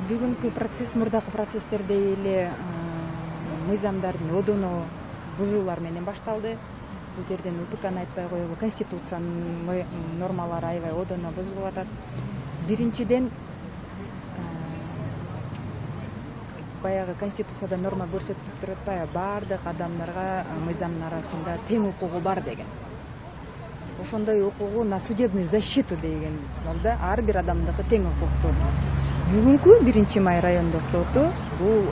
Бүгүнкү процесс мурдакы процесстердей эле мыйзамдардын одоно бузуулар менен башталды. Бул жерден УККны айтпай коелу, Конституциянын нормалары аябай одоно бузулуп атат. Биринчиден, баягы Конституцияда норма көрсөтүп туруп атпайбы, баардык адамдарга мыйзамдын арасында тең укугу бар деген. Ошондой укугу на судебную защиту деген да, ар бир адамдыкы тең укуктуу. Бүгүнкү 1-Май райондук соту бул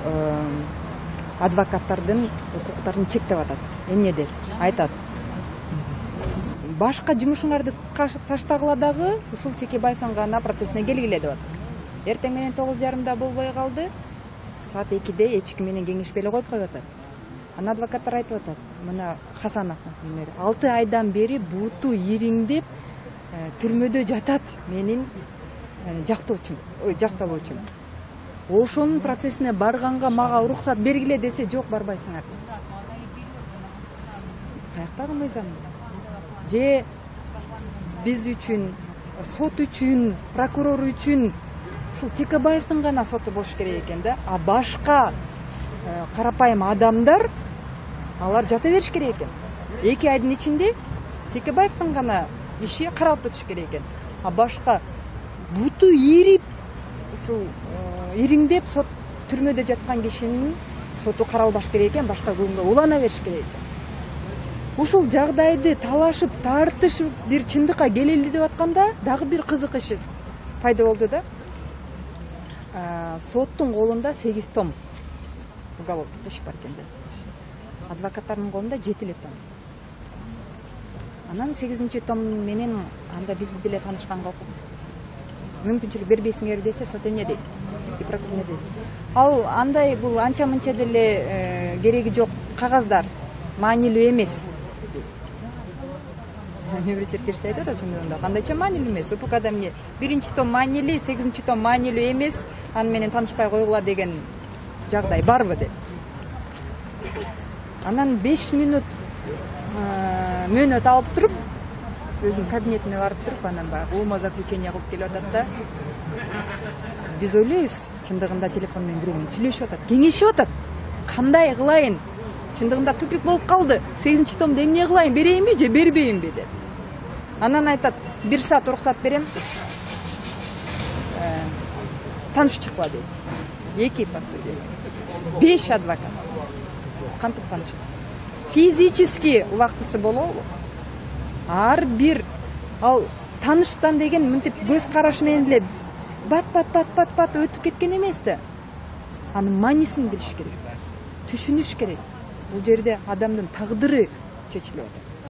адвокаттардын укуктарын чектеп атат. Эмнеде? Айтат. Башка жумушуңарды таштагыла дагы ушул Текебаевдин гана процессине келгиле деп атат. Эртең менен 9:30 болбой калды. Саат 2-де эч ким менен кеңешпей эле коюп коюп атат. Анан адвокаттар айтып атат. Мына Хасанов, например, 6 айдан бери буту ириңдеп түрмөдө жатат менин жакталуучум. Ошонун процессине барганга мага уруксат бергиле десе, жок, барбайсыңар. Каяктагы мыйзам? Же биз үчүн, сот үчүн, прокурор үчүн ушул Текебаевдин гана соту болуш керек экен да, а башка карапайым адамдар алар жата бериш керек экен. 2 айдын ичинде Текебаевдин гана иши каралып өтүш керек экен. А башка буту ирип, ушул ириңдеп сот түрмөдө жаткан кишинин соту каралбаш керек экен, башка күнгө улана бериш керек экен. Ушул жагдайды талашып, тартышып бир чындыкка келели деп атканда дагы бир кызык иш пайда болду да. Соттун колунда 8 том уголовдук иш бар экен. Адвокаттардын колунда 7 том. Анан 8-том менен анда биз деле танышканга мүмкүнчүлүк бербейсиңер десе, сот эмне дейт? И прокурор эмне дейт? Ал андай бул анча мынча деле кереги жок кагаздар, маанилүү эмес. Небир черкеште айтат ошондо, кандайча маанилүү эмес? УПКда эмне? 1-том маанилүү, 8-том маанилүү эмес, аны менен таанышпай койгула деген жагдай барбы деп. Анан 5 минут мөөнөт алып туруп, өзүнүн кабинетине барып туруп, анан баягы умозаключение кылып келип атат да. Биз ойлойбуз, чындыгында телефон менен бирөө менен сүйлөшүп атат, кеңешип атат. Кандай кылайын? Чындыгында тупик болуп калды. 8-томду эмне кылайын? Берейинби же бербейинби деп. Анан айтат, 1 саат уруксат берем. Таанышып чыккыла дейт. 2 подсудимый. 5 адвокат. Кантип таанышып? Физически убактысы болобу? Ар бир ал тааныштан деген мынтип көз караш менен эле бат өтүп кеткен эмес да. Анын маанисин билиш керек. Түшүнүш керек. Бул жерде адамдын тагдыры чечилип атат.